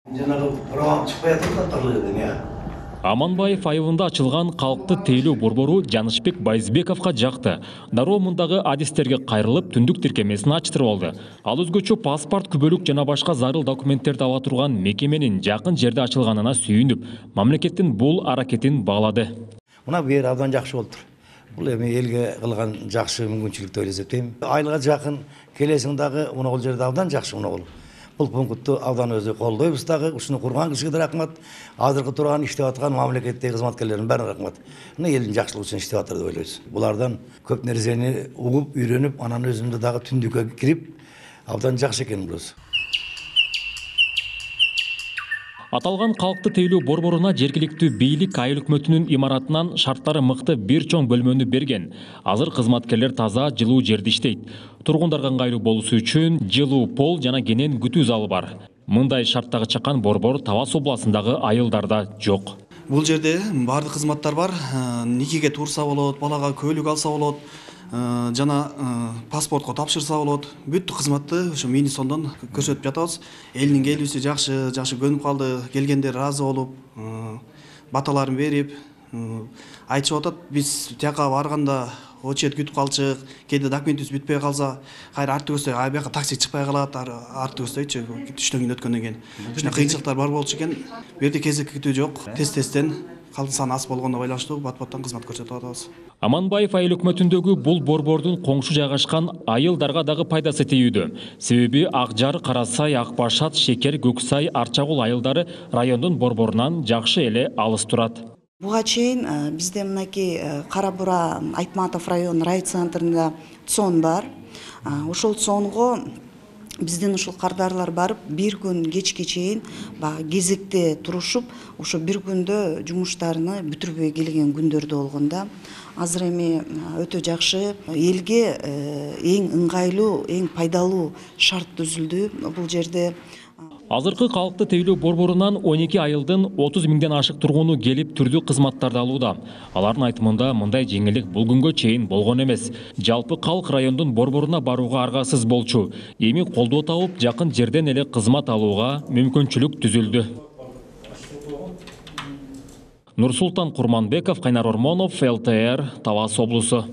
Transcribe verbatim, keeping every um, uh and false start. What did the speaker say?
Жанагы программа чыкпай атат тарлыгы я. Аманбаев айылында ачылган калкты тейлөө борбору Жанышбек Байызбековго жакты. Дароо мундагы адистерге кайрылып, түндүк тиркемесин ачтырып алды. Ал өзгөчө паспорт, күбөлүк жана башка зарыл документтерди ала турган мекеменин жакын жерде ачылганына сүйүнүп, мамлекеттин бул аракетин баалады. Мына бир абдан жакшы болуптур. Бул эми элге кылган жакшы мүмкүнчүлүк деп эсептейм. Айылга жакын келесиң дагы мына бул жерде абдан жакшы мына бул. Бул пунктту абдан өзү колдойбуз дагы. Ушуну курган кишиге да рахмат. Азыркы турган иштеп аткан мамлекеттеги кызматкерлердин баарына рахмат. Мына элдин жакшылыгы үчүн иштеп атыр деп ойлойбуз. Булардан көп нерсени угуп, үйрөнүп, анан өзүмдү дагы түндүккө кирип, абдан жакшы экен бул. Аталган калкты тейлөө борборуна жергиликтүү бийлик айыл өкмөтүнүн имаратынан шарттары мыкты бир чоң бөлмөнү берген. Азыр кызматкерлер таза, жылуу жерде иштейт. Тургундарга ыңгайлуу болушу үчүн жылуу пол жана кенен күтүү залы бар. Мындай шарттагы чакан борбор Талас областындагы айылдарда жок. Бул жерде баардык кызматтар бар. Никеге турса болот, балага көйлүк алса болот, жана паспортко тапшырса болот. Бүт кызматты ошо Минисондон көрсөтүп жатабыз. Элдин келүүсү жакшы, жакшы көнүп калды. Келгендер ыраазы болуп, баталарын берип, айтышып атат. Биз тияка барганда очередь күтүп калчык. Кээде документибиз бүтпөй калса, кайра арты көздөй ай бияка такси чыкпай калат, арты көздөйчү түштөн кийин өткөндөн кийин. Ушуна кыйынчылыктар бар болчу экен. Бу жерде кезек күтүү жок. Тез-тезден калдын саны аз болгондо байланыштуу бат-баттан кызмат көрсөтүп атабыз. Аманбаев айыл өкмөтүндөгү бул борбордун коңшу жайгашкан айылдарга дагы пайдасы тийүүдө. Себеби Акжар, Карасай, Акбашат, Шекер, Көксай, Арчагул айылдары райондун борборунан жакшы эле алыс турат. Буга чейин бизде мынакей Кара Бура Айтматов район райцентринде цон бар. Ошол цонго биздин ушул кардарлар барып, бир күн кечке чейин баягы кезекте турушуп, ошо бир күндө жумуштарыны бүтүрбөй келген күндөрдө болгондо, азыр эми өтө жакшы, элге эң ыңгайлуу, эң пайдалуу шарт түзүлдү бул жерде. Азыркы калкты тейлөө борборунан он эки айылдын отуз миңден ашык тургуну келип түрдүү кызматтарды алууда. Алардын айтымында мындай жеңилдик бул күнгө чейин болгон эмес. Жалпы калк райондун борборуна барууга аргасыз болчу. Эми колдоо табып, жакын жерден эле кызмат алууга мүмкүнчүлүк түзүлдү. Нурсултан Курманбеков, Кайнар Ормонов, эл тэ эр, Талас облусу.